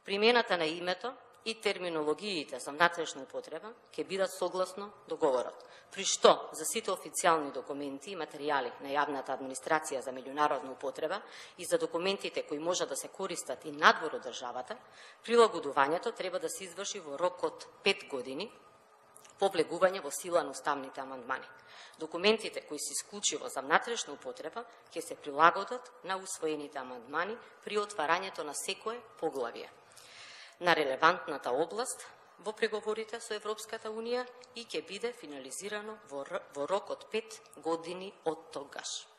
Примената на името и терминологиите за внатрешна употреба ќе бидат согласно договорот, при што за сите официјални документи и материјали на јавната администрација за меѓународна употреба и за документите кои може да се користат и надвор од државата, прилагодувањето треба да се изврши во рок од 5 години по влегување во сила на уставните амандмани. Документите кои се исклучиво за внатрешна употреба ќе се прилагодат на усвоените амандмани при отварањето на секое поглавие на релевантната област во преговорите со Европската Унија и ќе биде финализирано во рок од 5 години од тогаш.